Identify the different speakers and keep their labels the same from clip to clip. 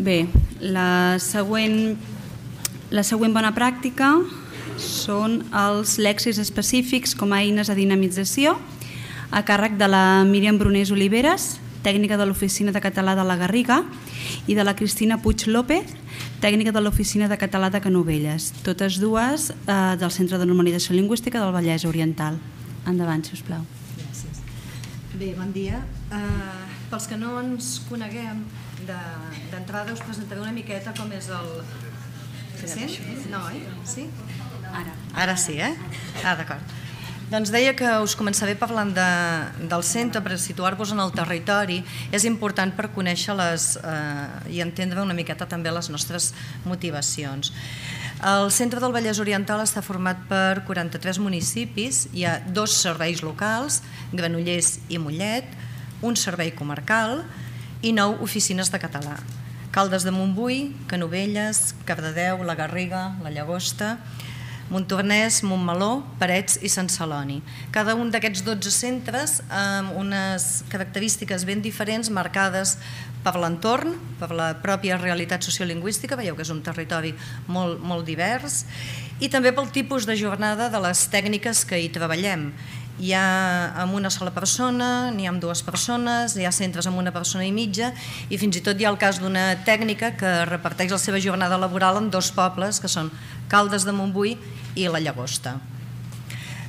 Speaker 1: Bé, la següent bona pràctica són els lèxics específics com a eines de dinamització a càrrec de la Míriam Brunés Oliveres, tècnica de l'Oficina de Català de la Garriga, i de la Cristina Puig López, tècnica de l'Oficina de Català de Canovelles, totes dues del Centre de Normalització Lingüística del Vallès Oriental. Endavant, si us plau.
Speaker 2: Gràcies. Bé, bon dia. Pels que no ens coneguem, d'entrada us presentaré una miqueta com és el... Se sent? No, oi? Sí? Ara sí, eh? D'acord. Doncs deia que us començaré parlant del centre per situar-vos en el territori. És important per conèixer i entendre una miqueta també les nostres motivacions. El centre del Vallès Oriental està format per 43 municipis, hi ha 2 serveis locals, Granollers i Mollet, un servei comarcal i 9 oficines de català. Caldes de Montbui, Canovelles, Cardedeu, la Garriga, la Llagosta, Montornès, Montmeló, Parets i Sant Celoni. Cada un d'aquests 12 centres amb unes característiques ben diferents marcades per l'entorn, per la pròpia realitat sociolingüística, veieu que és un territori molt divers, i també pel tipus de jornada de les tècniques que hi treballem. Hi ha amb una sola persona, n'hi ha amb 2 persones, hi ha centres amb 1 persona i mitja i fins i tot hi ha el cas d'una tècnica que reparteix la seva jornada laboral en 2 pobles, que són Caldes de Montbui i la Llagosta.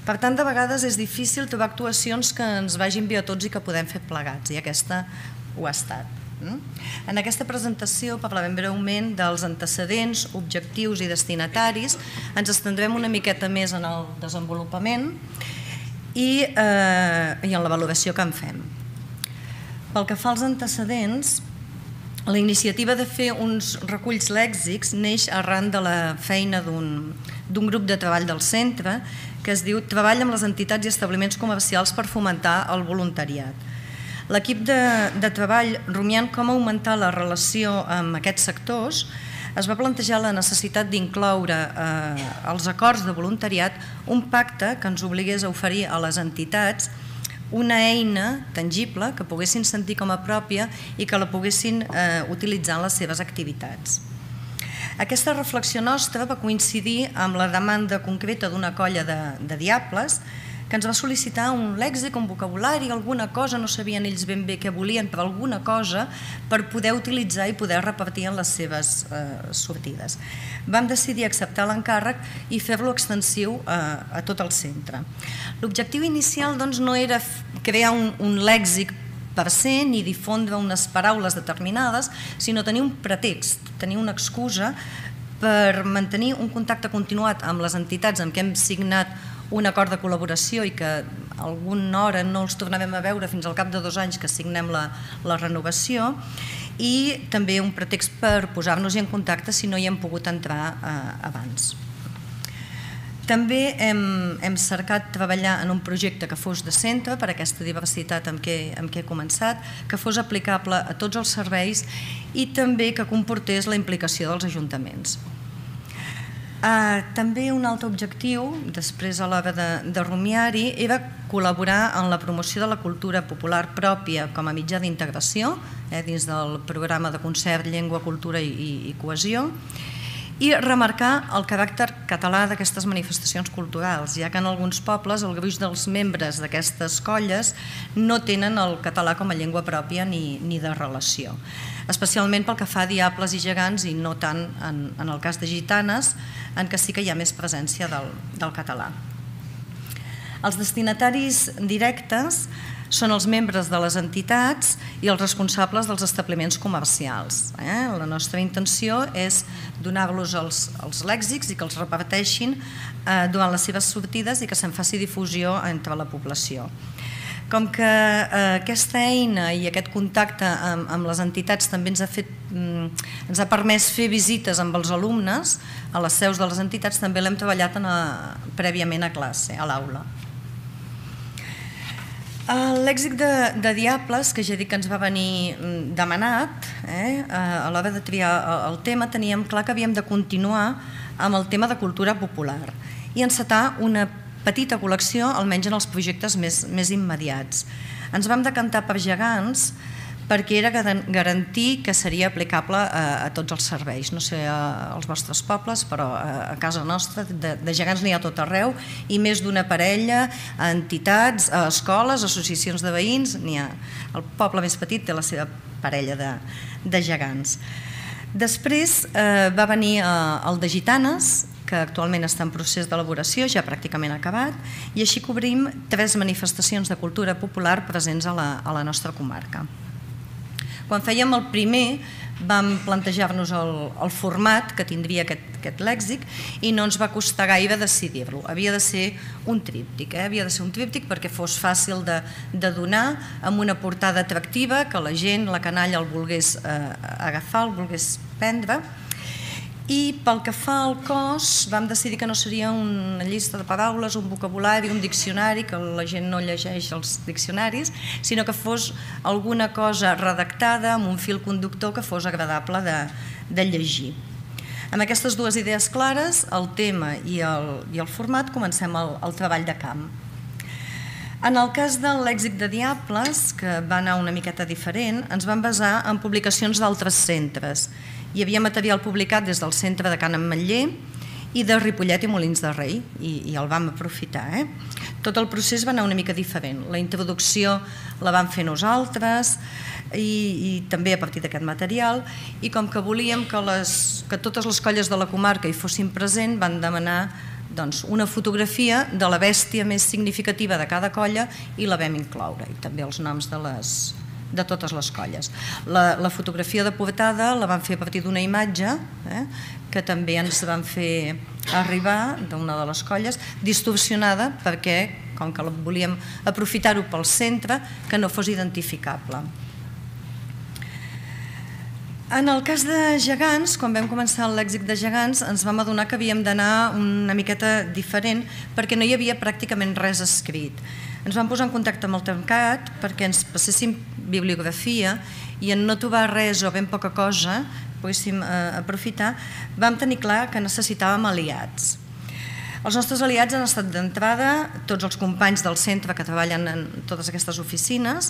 Speaker 2: Per tant, de vegades és difícil trobar actuacions que ens vagin bé a tots i que podem fer plegats, i aquesta ho ha estat. En aquesta presentació parlarem breument dels antecedents, objectius i destinataris, ens estendrem una miqueta més en el desenvolupament i en la valoració que en fem. Pel que fa als antecedents, la iniciativa de fer uns reculls lèxics neix arran de la feina d'un grup de treball del centre que es diu Treball amb les entitats i establiments comercials per fomentar el voluntariat. L'equip de treball, rumiant com augmentar la relació amb aquests sectors, es va plantejar la necessitat d'incloure als acords de voluntariat un pacte que ens obligués a oferir a les entitats una eina tangible que poguessin sentir com a pròpia i que la poguessin utilitzar en les seves activitats. Aquesta reflexió nostra va coincidir amb la demanda concreta d'una colla de diables que ens va sol·licitar un lèxic, un vocabulari, alguna cosa, no sabien ells ben bé què volien, però alguna cosa per poder utilitzar i poder repartir en les seves sortides. Vam decidir acceptar l'encàrrec i fer-lo extensiu a tot el centre. L'objectiu inicial no era crear un lèxic per se ni difondre unes paraules determinades, sinó tenir un pretext, tenir una excusa per mantenir un contacte continuat amb les entitats amb què hem signat un acord de col·laboració i que alguna hora no els tornarem a veure fins al cap de 2 anys que signem la renovació, i també un pretext per posar-nos en contacte si no hi hem pogut entrar abans. També hem cercat treballar en un projecte que fos de centre per aquesta diversitat amb què he començat, que fos aplicable a tots els serveis i també que comportés la implicació dels ajuntaments. També un altre objectiu, després a l'hora de rumiar-hi, era col·laborar en la promoció de la cultura popular pròpia com a mitjà d'integració dins del programa de concert Llengua, Cultura i Cohesió, i remarcar el caràcter català d'aquestes manifestacions culturals, ja que en alguns pobles el gruix dels membres d'aquestes colles no tenen el català com a llengua pròpia ni de relació, especialment pel que fa a diables i gegants i no tant en el cas de gitanes, en què sí que hi ha més presència del català. Els destinataris directes són els membres de les entitats i els responsables dels establiments comercials. La nostra intenció és donar-los els lèxics i que els reparteixin durant les seves sortides i que se'n faci difusió entre la població. Com que aquesta eina i aquest contacte amb les entitats també ens ha permès fer visites amb els alumnes a les seus de les entitats, també l'hem treballat prèviament a classe, a l'aula. El lèxic de diables, que ja dic que ens va venir demanat, a l'hora de triar el tema teníem clar que havíem de continuar amb el tema de cultura popular i encetar una petita col·lecció, almenys en els projectes més immediats. Ens vam decantar per gegants perquè era garantir que seria aplicable a tots els serveis, no sé als vostres pobles, però a casa nostra de gegants n'hi ha tot arreu, i més d'una parella, a entitats, a escoles, associacions de veïns, n'hi ha. El poble més petit té la seva parella de gegants. Després va venir el de Gitanes, que actualment està en procés d'elaboració, ja pràcticament acabat, i així cobrim 3 manifestacions de cultura popular presents a la nostra comarca. Quan fèiem el primer vam plantejar-nos el format que tindria aquest lèxic i no ens va costar gaire decidir-lo. Havia de ser un tríptic, havia de ser un tríptic perquè fos fàcil de donar, amb una portada atractiva, que la gent, la canalla el volgués agafar, el volgués prendre. I pel que fa al cos, vam decidir que no seria una llista de paraules, un vocabulari, un diccionari, que la gent no llegeix els diccionaris, sinó que fos alguna cosa redactada amb un fil conductor que fos agradable de llegir. Amb aquestes 2 idees clares, el tema i el format, comencem el treball de camp. En el cas del lèxic de Diables, que va anar una miqueta diferent, ens vam basar en publicacions d'altres centres. Hi havia material publicat des del centre de Can Ametller i de Ripollet i Molins de Rei, i el vam aprofitar. Tot el procés va anar una mica diferent. La introducció la vam fer nosaltres i també a partir d'aquest material, i com que volíem que totes les colles de la comarca hi fossin presents, van demanar una fotografia de la bèstia més significativa de cada colla i la vam incloure, i també els noms de totes les colles. La fotografia de portada la vam fer a partir d'una imatge que també ens van fer arribar d'una de les colles, distorsionada perquè, com que volíem aprofitar-ho pel centre, que no fos identificable. En el cas de gegants, quan vam començar el lèxic de gegants, ens vam adonar que havíem d'anar una miqueta diferent perquè no hi havia pràcticament res escrit. Ens vam posar en contacte amb el Termcat perquè ens passéssim bibliografia i en no trobar res o ben poca cosa poguéssim aprofitar, vam tenir clar que necessitàvem aliats. Els nostres aliats han estat d'entrada tots els companys del centre que treballen en totes aquestes oficines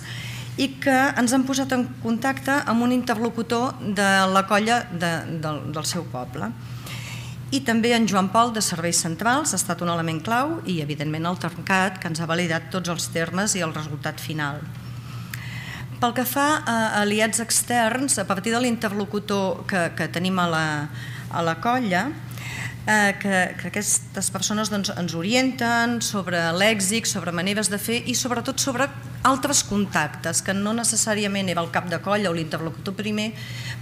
Speaker 2: i que ens han posat en contacte amb un interlocutor de la colla del seu poble. I també en Joan Pol, de Serveis Centrals, ha estat un element clau, i evidentment el Termcat, que ens ha validat tots els termes i el resultat final. Pel que fa a aliats externs, a partir de l'interlocutor que tenim a la colla, que aquestes persones ens orienten sobre lèxic, sobre maneres de fer i sobretot sobre altres contactes, que no necessàriament era el cap de colla o l'interlocutor primer,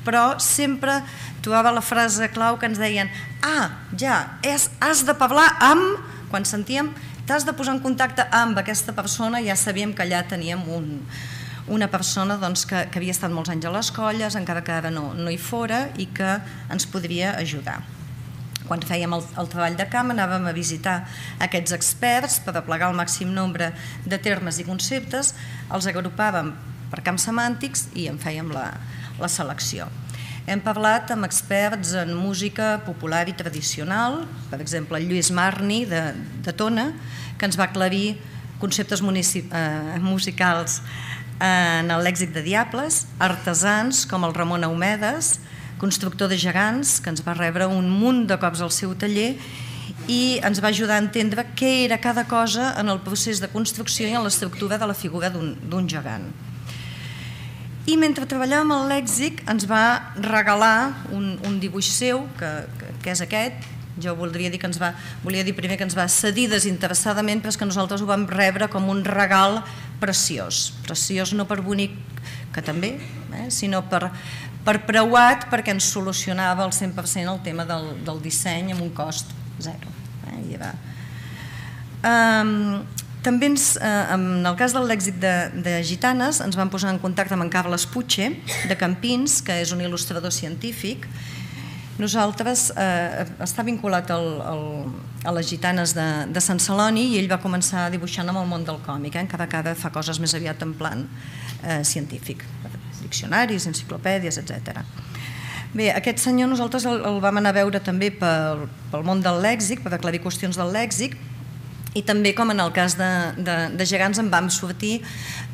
Speaker 2: però sempre trobava la frase clau que ens deien has de parlar amb, quan sentíem t'has de posar en contacte amb aquesta persona, ja sabíem que allà teníem una persona que havia estat molts anys a les colles, encara que ara no hi fora, i que ens podria ajudar. Quan fèiem el treball de camp anàvem a visitar aquests experts per aplegar el màxim nombre de termes i conceptes, els agrupàvem per camps semàntics i en fèiem la selecció. Hem parlat amb experts en música popular i tradicional, per exemple el Lluís Marni de Tona, que ens va aclarir conceptes musicals en el lèxic de Diables, artesans com el Ramon Aumedes, constructor de gegants, que ens va rebre un munt de cops al seu taller i ens va ajudar a entendre què era cada cosa en el procés de construcció i en l'estructura de la figura d'un gegant. I mentre treballàvem el lèxic ens va regalar un dibuix seu, que és aquest. Jo volia dir primer que ens va cedir desinteressadament, però és que nosaltres ho vam rebre com un regal preciós. Preciós no per bonic, que també, sinó per preuat, perquè ens solucionava al 100% el tema del disseny amb un cost zero. També en el cas del lèxic de Gitanes ens vam posar en contacte amb en Carles Puche de Campins, que és un il·lustrador científic. Nosaltres està vinculat a les Gitanes de Sant Celoni i ell va començar dibuixant amb el món del còmic, encara que ara fa coses més aviat en plan científic, diccionaris, enciclopèdies, etc. Bé, aquest senyor nosaltres el vam anar a veure també pel món del lèxic, per aclarir qüestions del lèxic, I també, com en el cas de gegants, en vam sortir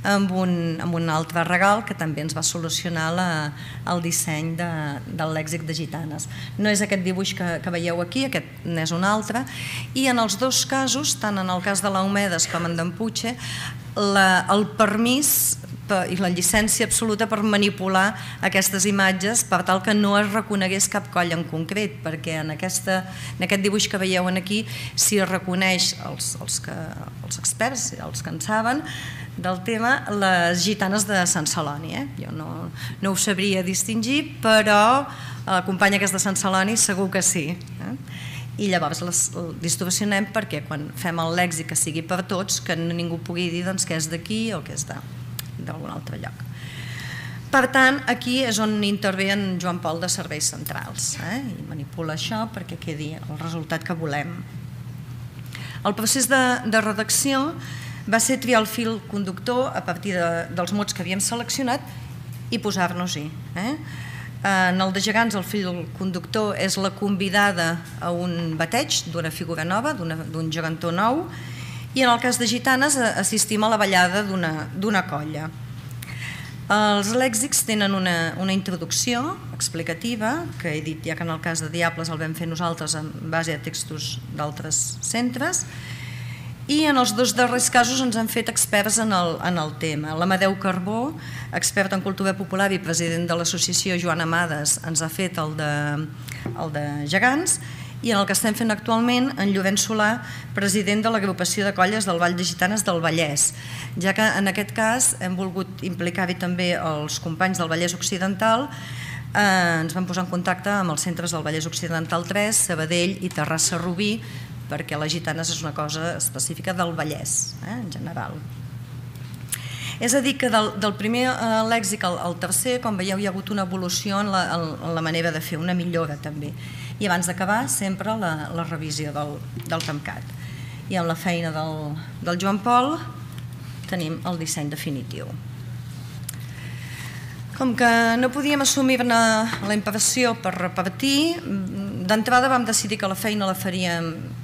Speaker 2: amb un altre regal que també ens va solucionar el disseny del lèxic de gitanes. No és aquest dibuix que veieu aquí, aquest n'és un altre, i en els dos casos, tant en el cas de l'Eumedes com en d'en Puig, el permís i la llicència absoluta per manipular aquestes imatges per tal que no es reconegués cap colla en concret, perquè en aquest dibuix que veieu aquí s'hi reconeix els experts, els que en saben del tema, les gitanes de Sant Celoni. Jo no ho sabria distingir, però la companya que és de Sant Celoni segur que sí. I llavors les distorsionem perquè quan fem el lèxic que sigui per tots, que ningú pugui dir que és d'aquí o que és d'algun altre lloc. Per tant, aquí és on intervé en Joan Pol de Serveis Centrals i manipula això perquè quedi el resultat que volem. El procés de redacció va ser triar el fil conductor a partir dels mots que havíem seleccionat i posar-nos-hi. En el de gegants el fil conductor és la convidada a un bateig d'una figura nova, d'un gegantó nou, i en el cas de gitanes assistim a la ballada d'una colla. Els lèxics tenen una introducció explicativa, que he dit ja que en el cas de Diables el vam fer nosaltres en base a textos d'altres centres, i en els dos darrers casos ens han fet experts en el tema. L'Amadeu Carbó, expert en cultura popular i president de l'associació Joan Amades, ens ha fet el de gegants, i en el que estem fent actualment en Llorenç Solà, president de l'agrupació de colles del Ball de Gitanes del Vallès, ja que en aquest cas hem volgut implicar-hi també els companys del Vallès Occidental. Ens vam posar en contacte amb els centres del Vallès Occidental 3, Sabadell i Terrassa-Rubí, perquè les gitanes és una cosa específica del Vallès, en general. És a dir, que del primer lèxic al tercer, com veieu, hi ha hagut una evolució en la manera de fer, una millora també. I abans d'acabar, sempre la revisió del TEMCAT. I amb la feina del Joan Pol tenim el disseny definitiu. Com que no podíem assumir-ne la impressió per repartir, d'entrada vam decidir que la feina la faríem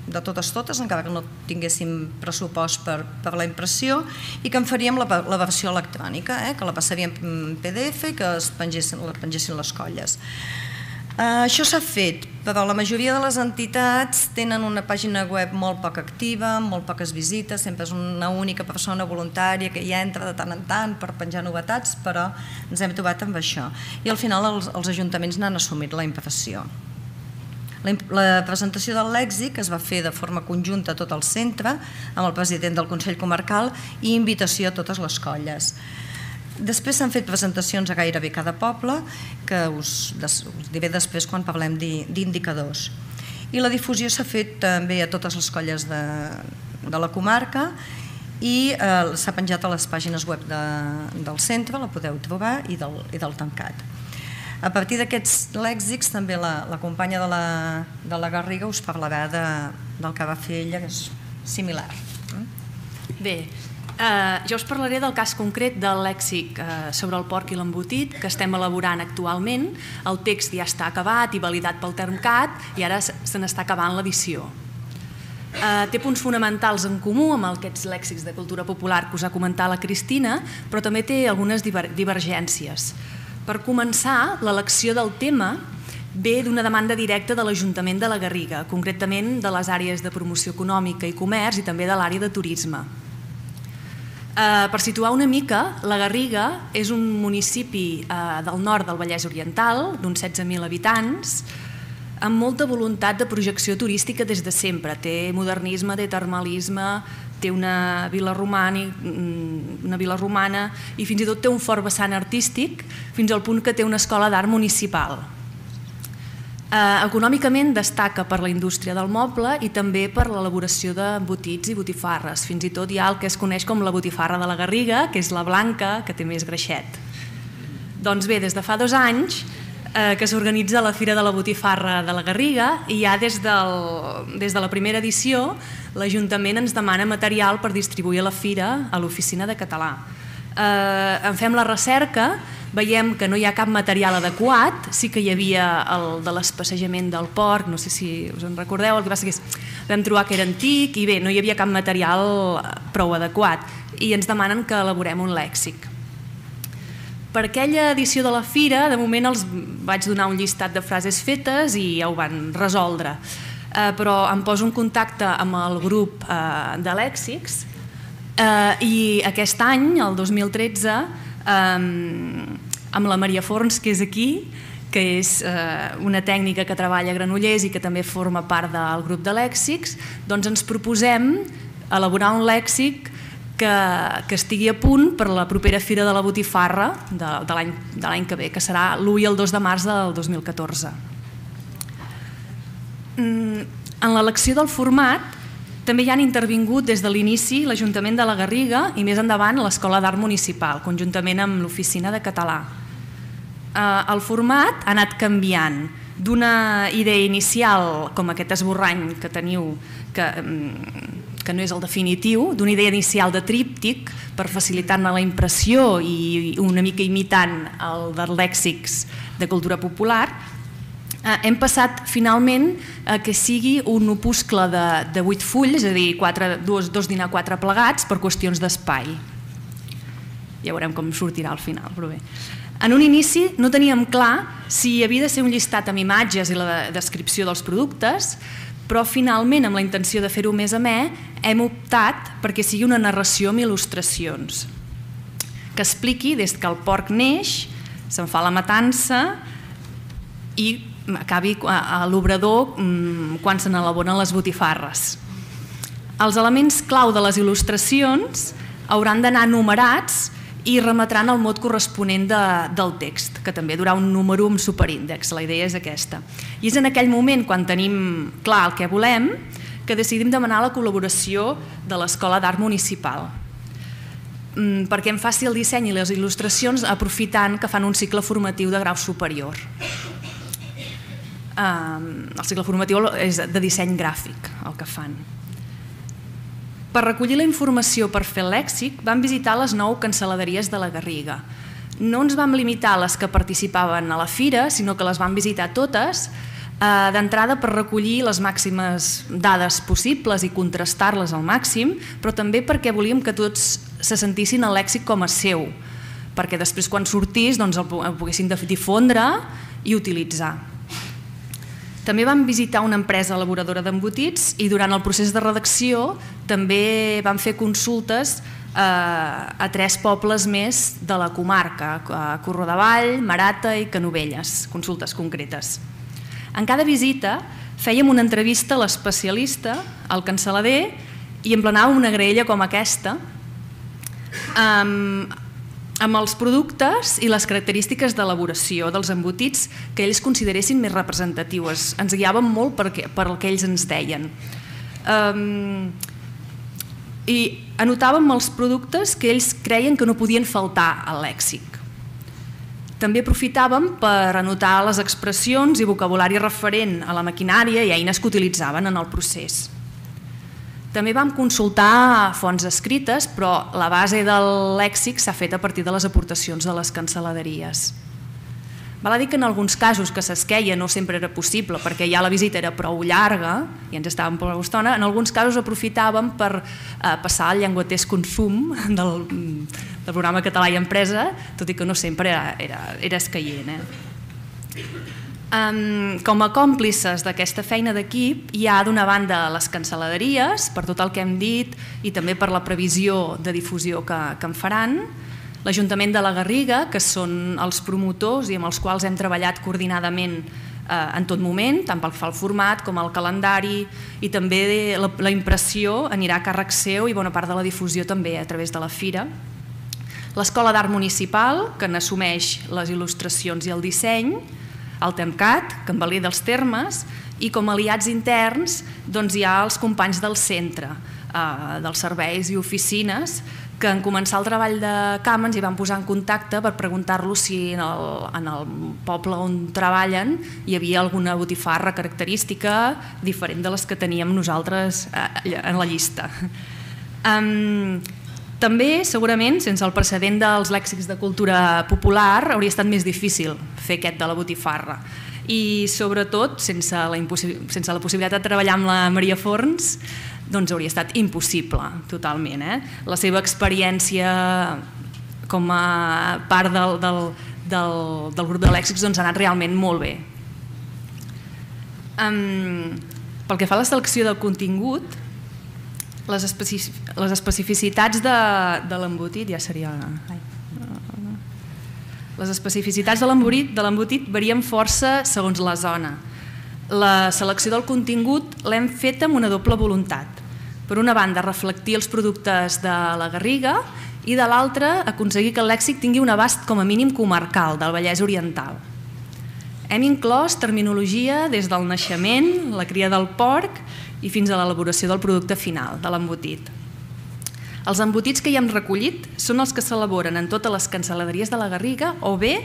Speaker 2: de totes, encara que no tinguéssim pressupost per la impressió, i que en faríem la versió electrònica, que la passaríem en PDF i que la pengessin les colles. Això s'ha fet, però la majoria de les entitats tenen una pàgina web molt poc activa, amb molt poques visites, sempre és una única persona voluntària que hi entra de tant en tant per penjar novetats, però ens hem trobat amb això. I al final els ajuntaments n'han assumit la impressió. La presentació del lèxic es va fer de forma conjunta a tot el centre, amb el president del Consell Comarcal i invitació a totes les colles. Després s'han fet presentacions a gairebé cada poble, que us diré després quan parlem d'indicadors. I la difusió s'ha fet també a totes les colles de la comarca i s'ha penjat a les pàgines web del centre, la podeu trobar, i del TEMCAT. A partir d'aquests lèxics també la companya de la Garriga us parlarà del que va fer ella, que és similar.
Speaker 3: Bé, jo us parlaré del cas concret del lèxic sobre el porc i l'embotit que estem elaborant actualment. El text ja està acabat i validat pel TEMCAT i ara se n'està acabant l'edició. Té punts fonamentals en comú amb aquests lèxics de cultura popular que us ha comentat la Cristina, però també té algunes divergències. Per començar, l'elecció del tema ve d'una demanda directa de l'Ajuntament de la Garriga, concretament de les àrees de promoció econòmica i comerç i també de l'àrea de turisme. Per situar una mica, la Garriga és un municipi del nord del Vallès Oriental, d'uns 16.000 habitants, amb molta voluntat de projecció turística des de sempre. Té modernisme, té termalisme, té una vila romana i fins i tot té un fort vessant artístic, fins al punt que té una escola d'art municipal. Econòmicament destaca per la indústria del moble i també per l'elaboració d'embotits i botifarres. Fins i tot hi ha el que es coneix com la botifarra de la Garriga, que és la blanca, que té més greixet. Doncs bé, des de fa 2 anys que s'organitza la Fira de la Botifarra de la Garriga i ja des de la primera edició l'Ajuntament ens demana material per distribuir a la Fira a l'Oficina de Català. En fem la recerca, veiem que no hi ha cap material adequat, sí que hi havia el de l'espacejament del porc, no sé si us en recordeu, el que passa que és vam trobar que era antic i bé, no hi havia cap material prou adequat i ens demanen que elaborem un lèxic. Per aquella edició de la fira, de moment els vaig donar un llistat de frases fetes i ja ho van resoldre, però em poso en contacte amb el grup de lèxics i aquest any, el 2013, amb la Maria Forns, que és aquí, que és una tècnica que treballa a Granollers i que també forma part del grup de lèxics, doncs ens proposem elaborar un lèxic que estigui a punt per la propera Fira de la Botifarra de l'any que ve, que serà l'1 i el 2 de març del 2014. En l'elecció del format també hi han intervingut des de l'inici l'Ajuntament de la Garriga i més endavant l'Escola d'Art Municipal, conjuntament amb l'Oficina de Català. El format ha anat canviant d'una idea inicial, com aquest esborrany que teniu, que no és el definitiu, d'una idea inicial de tríptic per facilitar-ne la impressió i una mica imitant el dels lèxics de cultura popular, hem passat finalment a que sigui un opuscle de 8 fulls, és a dir, 2 dinar 4 plegats per qüestions d'espai. Ja veurem com sortirà al final, però bé. En un inici no teníem clar si havia de ser un llistat amb imatges i la descripció dels productes, però finalment, amb la intenció de fer-ho més amè, hem optat perquè sigui una narració amb il·lustracions, que expliqui des que el porc neix, se'n fa la matança i acabi a l'obrador quan se n'elaboren les botifarres. Els elements clau de les il·lustracions hauran d'anar numerats i remetran el mot corresponent del text, que també durà un número amb superíndex, la idea és aquesta. I és en aquell moment, quan tenim clar el que volem, que decidim demanar la col·laboració de l'Escola d'Art Municipal, perquè em faci el disseny i les il·lustracions aprofitant que fan un cicle formatiu de grau superior. El cicle formatiu és de disseny gràfic, el que fan. Per recollir la informació per fer el lèxic vam visitar les 9 cancel·laderies de la Garriga. No ens vam limitar a les que participaven a la fira, sinó que les vam visitar totes, d'entrada per recollir les màximes dades possibles i contrastar-les al màxim, però també perquè volíem que tots se sentissin el lèxic com a seu, perquè després quan sortís el poguessin difondre i utilitzar. També vam visitar una empresa elaboradora d'embotits i durant el procés de redacció també vam fer consultes a 3 pobles més de la comarca, a Corrodavall, Marata i Canovelles, consultes concretes. En cada visita fèiem una entrevista a l'especialista, al cancel·lader, i emplenàvem una graella com aquesta amb els productes i les característiques d'elaboració dels embotits que ells consideressin més representatius. Ens guiàvem molt per el que ells ens deien. I anotàvem els productes que ells creien que no podien faltar al lèxic. També aprofitàvem per anotar les expressions i vocabulari referent a la maquinària i eines que utilitzaven en el procés. També vam consultar fonts escrites, però la base del lèxic s'ha fet a partir de les aportacions de les cancel·laderies. Val a dir que en alguns casos que s'esqueia no sempre era possible perquè ja la visita era prou llarga i ens estàvem prou estona, en alguns casos aprofitàvem per passar el llenguatès consum del programa Català i Empresa, tot i que no sempre era escaient. Com a còmplices d'aquesta feina d'equip hi ha d'una banda les cancel·laderies, per tot el que hem dit i també per la previsió de difusió que en faran, l'Ajuntament de la Garriga, que són els promotors i amb els quals hem treballat coordinadament en tot moment, tant pel que fa al format com al calendari, i també la impressió anirà a càrrec seu i bona part de la difusió també a través de la fira. L'Escola d'Art Municipal, que n'assumeix les il·lustracions i el disseny, el TEMCAT, que en valida els termes, i com a aliats interns hi ha els companys del centre, dels serveis i oficines, que en començar el treball de camp ens hi van posar en contacte per preguntar-los si en el poble on treballen hi havia alguna botifarra característica diferent de les que teníem nosaltres en la llista. També, segurament, sense el precedent dels lèxics de cultura popular, hauria estat més difícil fer aquest de la botifarra. I, sobretot, sense la possibilitat de treballar amb la Maria Forns, doncs hauria estat impossible, totalment. La seva experiència com a part del grup de lèxics ha anat realment molt bé. Pel que fa a la selecció del contingut, les especificitats de l'embotit ja seria... Les especificitats de l'embotit varien força segons la zona. La selecció del contingut l'hem fet amb una doble voluntat. Per una banda, reflectir els productes de la Garriga i de l'altra, aconseguir que el lèxic tingui un abast com a mínim comarcal del Vallès Oriental. Hem inclòs terminologia des del naixement, la cria del porc i fins a l'elaboració del producte final, de l'embotit. Els embotits que hi hem recollit són els que s'elaboren en totes les cansaladeries de la Garriga o bé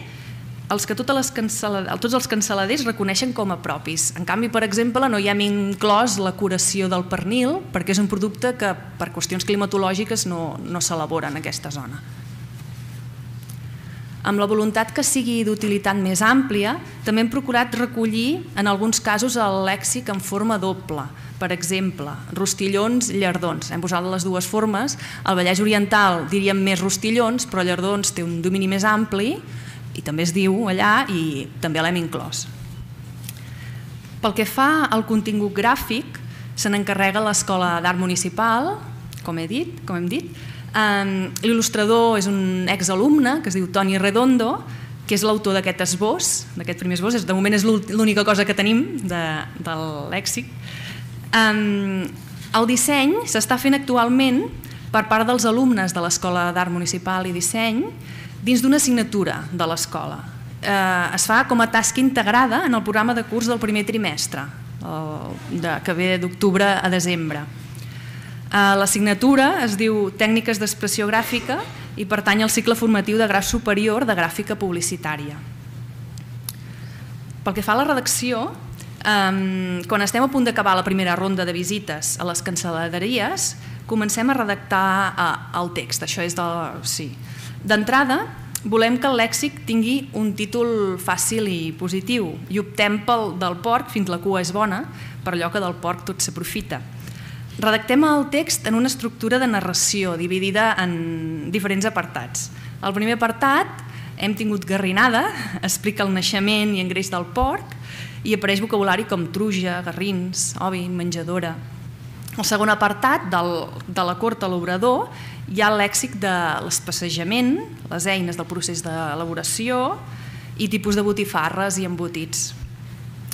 Speaker 3: els que tots els cansaladers reconeixen com a propis. En canvi, per exemple, no hi hem inclòs la curació del pernil perquè és un producte que per qüestions climatològiques no s'elabora en aquesta zona. Amb la voluntat que sigui d'utilitat més àmplia, també hem procurat recollir en alguns casos el lèxic en forma doble. Per exemple, rostillons, llardons. Hem posat les dues formes. Al Vallès Oriental diríem més rostillons, però llardons té un domini més ampli i també es diu allà i també l'hem inclòs. Pel que fa al contingut gràfic, se n'encarrega l'Escola d'Art Municipal, com hem dit. L'il·lustrador és un exalumne que es diu Toni Redondo, que és l'autor d'aquest esbós, d'aquest primer esbós. De moment és l'única cosa que tenim del lèxic. El disseny s'està fent actualment per part dels alumnes de l'Escola d'Art Municipal i Disseny dins d'una assignatura de l'escola. Es fa com a tasca integrada en el programa de curs del primer trimestre, que ve d'octubre a desembre. L'assignatura es diu Tècniques d'expressió gràfica i pertany al cicle formatiu de grau superior de gràfica publicitària. Pel que fa a la redacció, quan estem a punt d'acabar la primera ronda de visites a les cansaladeries, comencem a redactar el text. Això és d'entrada, volem que el lèxic tingui un títol fàcil i positiu i optem pel del porc fins la cua és bona, per allò que del porc tot s'aprofita. Redactem el text en una estructura de narració dividida en diferents apartats. Al primer apartat hem tingut garrinada, explica el naixement i engreix del porc i apareix vocabulari com truja, garrins, ovi, menjadora. Al segon apartat, de la cort a l'obrador, hi ha el lèxic de l'espassejament, les eines del procés d'elaboració i tipus de botifarres i embotits.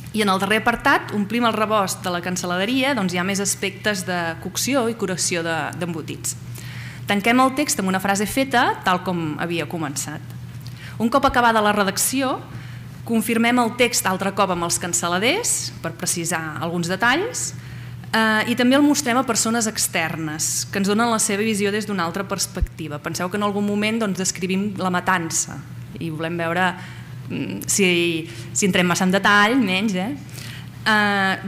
Speaker 3: I en el darrer apartat, omplim el rebost de la cansaladeria, doncs hi ha més aspectes de cocció i curació d'embotits. Tanquem el text amb una frase feta, tal com havia començat. Un cop acabada la redacció, confirmem el text altre cop amb els cansaladers, per precisar alguns detalls, i també el mostrem a persones externes, que ens donen la seva visió des d'una altra perspectiva. Penseu que en algun moment descrivim la matança i volem veure si entrem massa en detall, menys.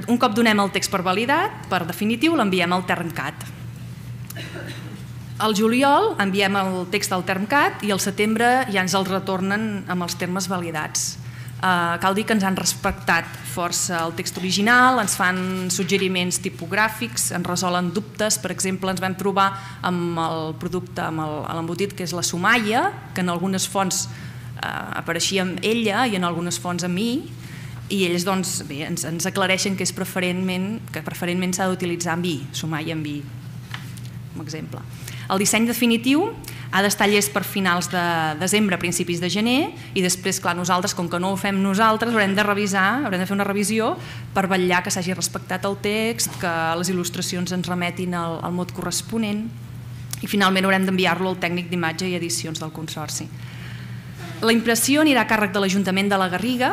Speaker 3: Un cop donem el text per validat, per definitiu, l'enviem al Termcat. Al juliol enviem el text al Termcat i al setembre ja ens el retornen amb els termes validats. Cal dir que ens han respectat força el text original, ens fan suggeriments tipogràfics, ens resolen dubtes. Per exemple, ens vam trobar amb el producte, amb l'embotit, que és la somaia, que en algunes fonts apareixia amb ella i en algunes fonts amb mi, i ells ens aclareixen que preferentment s'ha d'utilitzar amb i, somaia amb i, com a exemple. El disseny definitiu ha d'estar llest per finals de desembre, principis de gener, i després, clar, nosaltres, com que no ho fem nosaltres, haurem de fer una revisió per vetllar que s'hagi respectat el text, que les il·lustracions ens remetin al mot corresponent, i finalment haurem d'enviar-lo al tècnic d'imatge i edicions del Consorci. La impressió anirà a càrrec de l'Ajuntament de la Garriga,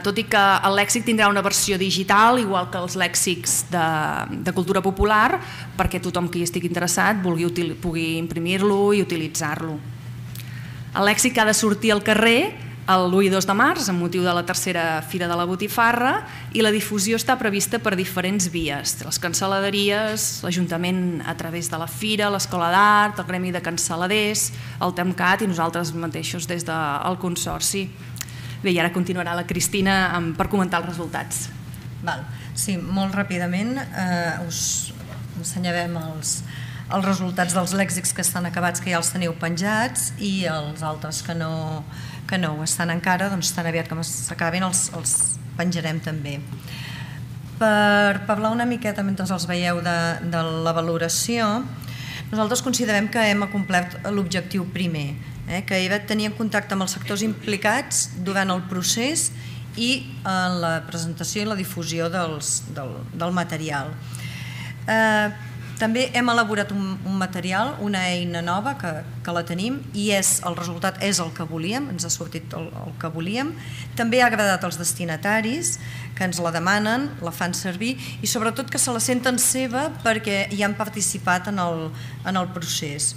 Speaker 3: tot i que el lèxic tindrà una versió digital, igual que els lèxics de cultura popular, perquè tothom que hi estigui interessat pugui imprimir-lo i utilitzar-lo. El lèxic ha de sortir al carrer l'1 i 2 de març, amb motiu de la tercera Fira de la Botifarra, i la difusió està prevista per diferents vies. Les cancel·laderies, l'Ajuntament a través de la Fira, l'Escola d'Art, el Gremi de Canceladers, el TEMCAT i nosaltres mateixos des del Consorci. Bé, i ara continuarà la Cristina per comentar els resultats.
Speaker 2: Sí, molt ràpidament us ensenyarem els resultats dels lèxics que estan acabats, que ja els teniu penjats, i els altres que no ho estan encara, doncs tan aviat com s'acabin els penjarem també. Per parlar una miqueta mentre els veieu de la valoració, nosaltres considerem que hem acomplert l'objectiu primer, que era tenir en contacte amb els sectors implicats durant el procés i en la presentació i la difusió del material. També hem elaborat un material, una eina nova que la tenim, i el resultat és el que volíem, ens ha sortit el que volíem. També ha agradat als destinataris, que ens la demanen, la fan servir, i sobretot que se la senten seva perquè hi han participat en el procés.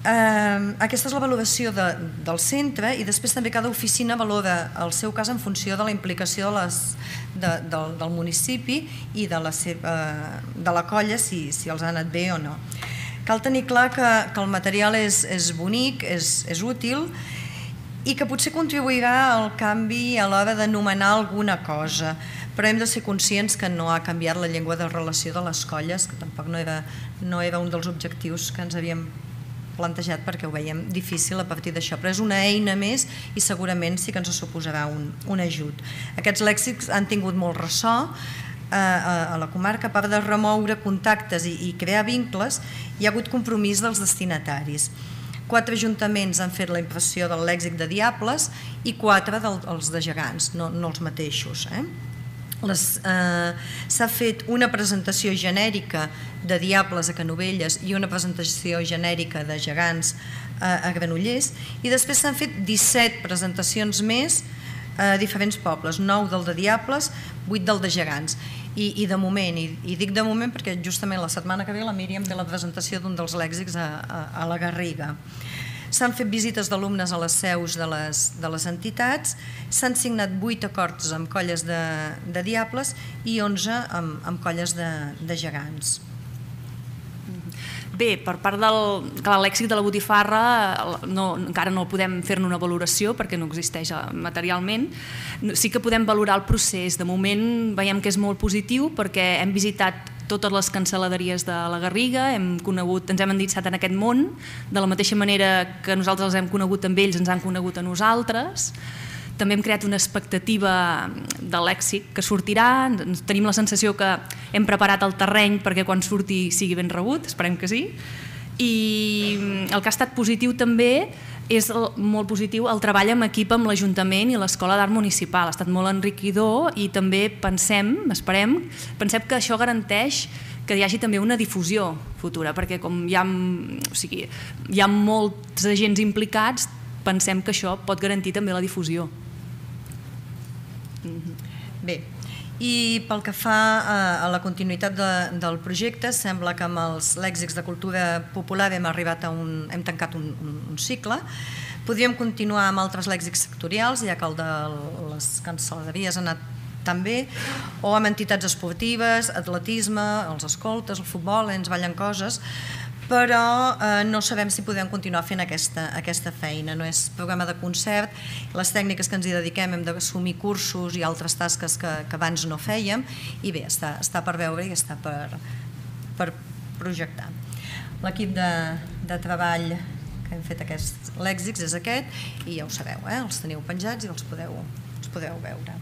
Speaker 2: Aquesta és la valoració del centre, i després també cada oficina valora el seu cas en funció de la implicació del municipi i de la colla, si els ha anat bé o no. Cal tenir clar que el material és bonic, és útil, i que potser contribuirà al canvi a l'hora d'anomenar alguna cosa, però hem de ser conscients que no ha canviat la llengua de relació de les colles, que tampoc no era un dels objectius que ens havíem plantejat, perquè ho veiem difícil a partir d'això, però és una eina més i segurament sí que ens suposarà un ajut. Aquests lèxics han tingut molt ressò a la comarca. A part de remoure contactes i crear vincles, hi ha hagut compromís dels destinataris. 4 ajuntaments han fet la impressió del lèxic de Diables i 4 dels de Gegants, no els mateixos. S'ha fet una presentació genèrica de Diables a Canovelles i una presentació genèrica de Gegants a Granollers, i després s'han fet 17 presentacions més a diferents pobles, 9 del de Diables, 8 del de Gegants. I de moment, i dic de moment perquè justament la setmana que ve la Míriam té la presentació d'un dels lèxics a la Garriga. S'han fet visites d'alumnes a les seus de les entitats, s'han signat 8 acords amb colles de Diables i 11 amb colles de Gegants.
Speaker 3: Bé, per part del lèxic de la Botifarra encara no podem fer-ne una valoració perquè no existeix materialment. Sí que podem valorar el procés. De moment veiem que és molt positiu perquè hem visitat totes les cancel·laderies de la Garriga, ens hem endinsat en aquest món, de la mateixa manera que nosaltres els hem conegut amb ells, ens han conegut a nosaltres. També hem creat una expectativa de lèxic que sortirà, tenim la sensació que hem preparat el terreny perquè quan surti sigui ben rebut, esperem que sí. I el que ha estat positiu també és molt positiu el treball en equip amb l'Ajuntament i l'Escola d'Art Municipal. Ha estat molt enriquidor i també pensem que això garanteix que hi hagi també una difusió futura, perquè com hi ha molts agents implicats, pensem que això pot garantir també la difusió.
Speaker 2: Bé, i pel que fa a la continuïtat del projecte, sembla que amb els lèxics de cultura popular hem tancat un cicle. Podríem continuar amb altres lèxics sectorials, ja que el de les cancel·laderies ha anat tan bé, o amb entitats esportives, atletisme, els escoltes, el futbol, ens ballen coses, però no sabem si podem continuar fent aquesta feina. No és programa de concert, les tècniques que ens hi dediquem hem d'assumir cursos i altres tasques que abans no fèiem, i bé, està per veure i està per projectar. L'equip de treball que hem fet aquests lèxics és aquest, i ja ho sabeu, els teniu penjats i els podeu veure.